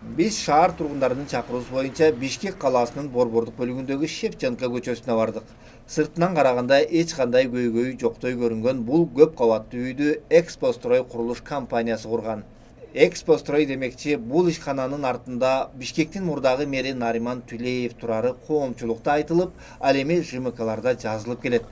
Биз шаар тургундарынын чакыруусу боюнча Бишкек калаасынын Борбордук бөлүгүндөгү Шевченко көчөсүнө бардык. Сыртынан караганда эч кандай көйгөй жоктой көрүнгөн бул көп кабаттуу үйдү Экспострой курулуш компаниясы курган. Экспострой демекчи, бул ишкананын артында Бишкектин мурдагы мэри Нариман Түлеев турары коомчулукта айтылып, ал эми ЖМКларда жазылып келет.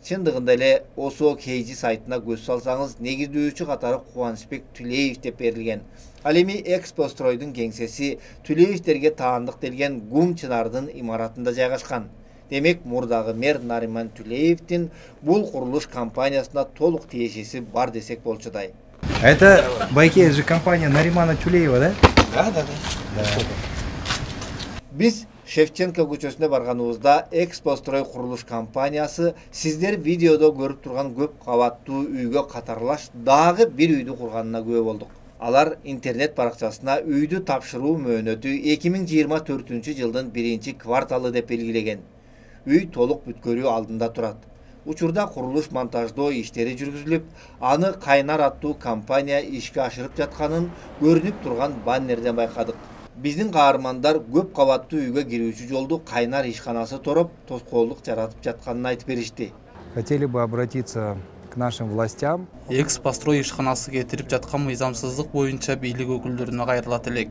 Чындыгында эле ОСО KG сайтына көз салсаңыз, негиздөөчү катары Кубанычбек Түлеев деп берилген. Ал эми Экспостройдун кеңсеси Түлеевтерге таандык делген ГУМ Чынардын имаратында жайгашкан. Демек, мурдагы мэр Нариман Түлеевдин бул курулуш компаниясына толук тиешеси бар десек болчудай. Это байке же компания Наримана Тюлеева, да? Да. Биз Шевченко көчөсүнө барганыбызда Экспострой курулуш компаниясы сиздер видеодо көрүп турган көп кабаттуу үйгө катарлаш дагы бир үйдү курганына күбө болдук. Алар интернет баракчасына үйдү тапшыруу мөөнөтү 2024 жылдын 1-кварталы деп белгилеген. Үй толук бүткөрүү алдында турат. Учурда курулуш монтаждоо иштери жүргүзүлүп, аны Кайнар аттуу компания ишке ашырып жатканын көрүнүп турган баннерден байкадык. Биздин каармандар көп кабаттуу үйгө кирүүчү жолду Кайнар ишканасы тороп, тоскоолдук жаратып жатканын айтып беришти. Хотели бы обратиться к нашим властям. Экспострой ишканасы кетирип жаткан мыйзамсыздык боюнча бийлик өкүлдөрүнө кайрылат элек.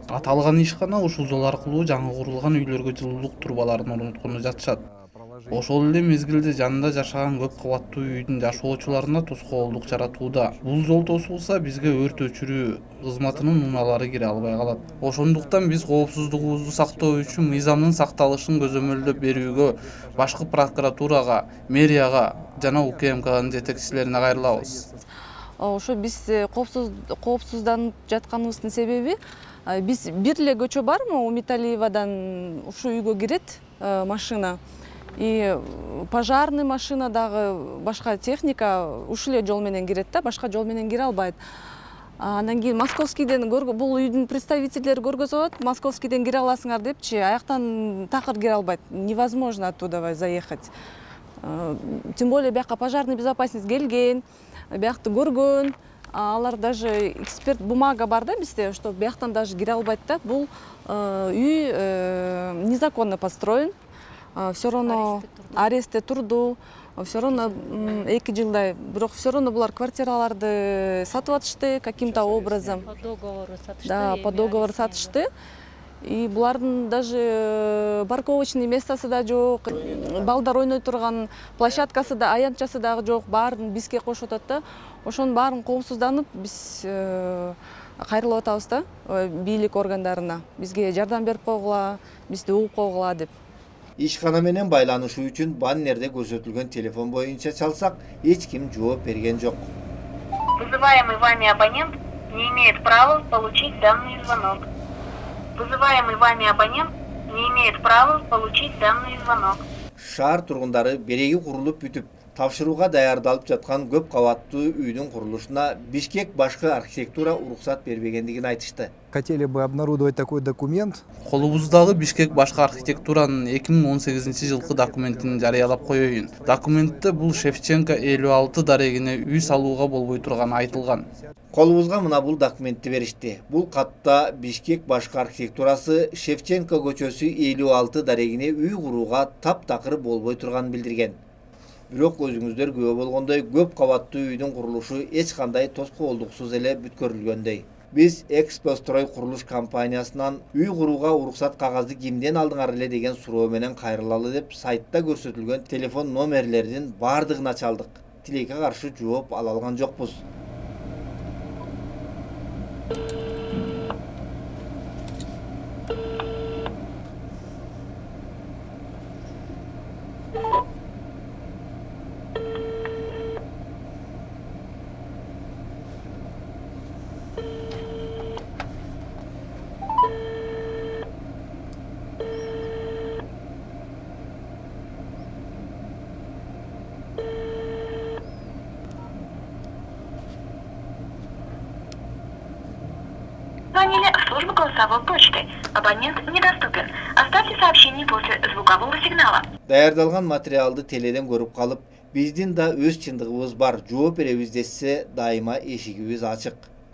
Аталган ишкана ушул жол аркылуу жаңы курулган үйлөргө жылуулук турбаларын орноткону жатышат. Ошол эле мезгилде жанында жашаган көп кабаттуу үйдүн жашоочуларына тоскоолдук жаратууда. Бул жол тосулса, бизге өрт өчүрүү кызматынын унаалары кире албай калат. Ошондуктан биз коопсуздугубузду сактоо үчүн мыйзамдын сакталышын көзөмөлдөп берүүгө башкы прокуратурага, мэрияга жана УКМКнын жетекчилерине кайрылабыз. Ошо биз коопсузданып жатканыбыздын себеби, биз бир эле көчө бармы, Умиталиевадан ушул үйгө кирет машина. И пожарный машина дагы башка техника ушул эле жол менен кирет да, башка жол менен кире албайт. Андан кийин Московскийден бул үйдүн представительдери көргөзөт, Московскийден кире аласыңар депчи, аяктан такыр кире албайт. Невозможно оттуда заехать. Тем более бияка пожарный безопасность келген, биякты көргөн. Алар даже эксперт бумага бар да бизде, что бияктан даже кире албайт да. Бул үй незаконно построен. Все равно арестте турду, все равно 2 жылдай, бирок все равно булар квартираларды сатып атышты каким-то образом. По договору сатышты. Да, по договору сатышты. И булардын даже парковочный местосы да жок, балдар ойной турган площадкасы да, аянтчасы дагы жок, баарын бизге кошуп атат да. Ошонун баарын коопсузданып биз кайрылып атабыз да бийлик органдарына. Бизге жардам берип койгула, бизди угуп койгула деп. Ишкана менен байланышуу үчүн баннерде көрсөтүлгөн телефон боюнча чалсак, эч ким жооп берген жок. Вызываемый вами абонент не имеет права получить данный звонок. Вызываемый вами абонент не имеет права получить данный звонок. Шаар тургундары береги курулуп бүтүп, тапшырууга даярдалып жаткан көп кабаттуу үйдүн курулушуна Бишкек башкы архитектура уруксат бербегендигин айтышты. Хотели бы обнародовать такой документ. Колубуздагы Бишкек башкы архитектуранын 2018 жылкы документин жарыялап коеюн. Документте бул Шевченко 56 дарегине үй салууга болбой турганы айтылган. Колубузга мына бул документти беришти. Бул катта Бишкек башкы архитектурасы Шевченко көчөсү 56 дарегине үй курууга таптакыр болбой турганын билдирген. Бирок өзүңүздөр күбө болгондой көп кабаттуу үйдүн курулушу эч кандай тоскоолдуксуз эле бүткөрүлгөндөй. Биз Экспострой курулуш компаниясынан үй курууга уруксат кагазды кимден алдыңар эле деген суроо менен кайрылалы деп сайтта көрсөтүлгөн телефон номерлеринин бардыгына чалдык. Тилекке каршы жооп ала алган жокпуз. Звонили в службу голосовой почты. Абонент недоступен. Оставьте сообщение после звукового сигнала. Даярдалган материалды теледен көрүп калып, биздин да өз чындыгыбыз бар, жооп беребиз десе, дайыма эшигибиз ачык.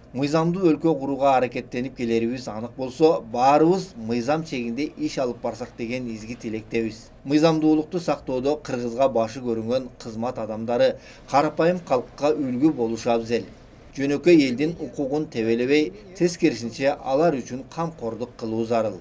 Мыйзамдуу өлкө курууга аракеттенип келерибиз анык болсо, баарыбыз мыйзам чегинде иш алып барсак деген изги тилектебиз. Мыйзамдуулукту сактоодо Кыргызга башы көрүнгөн кызмат адамдары карапайым калкка үлгү болушу абзел. Жөнөкөй элдин укугун тебелебей, тескерисинче алар үчүн камкордук кылуу зарыл.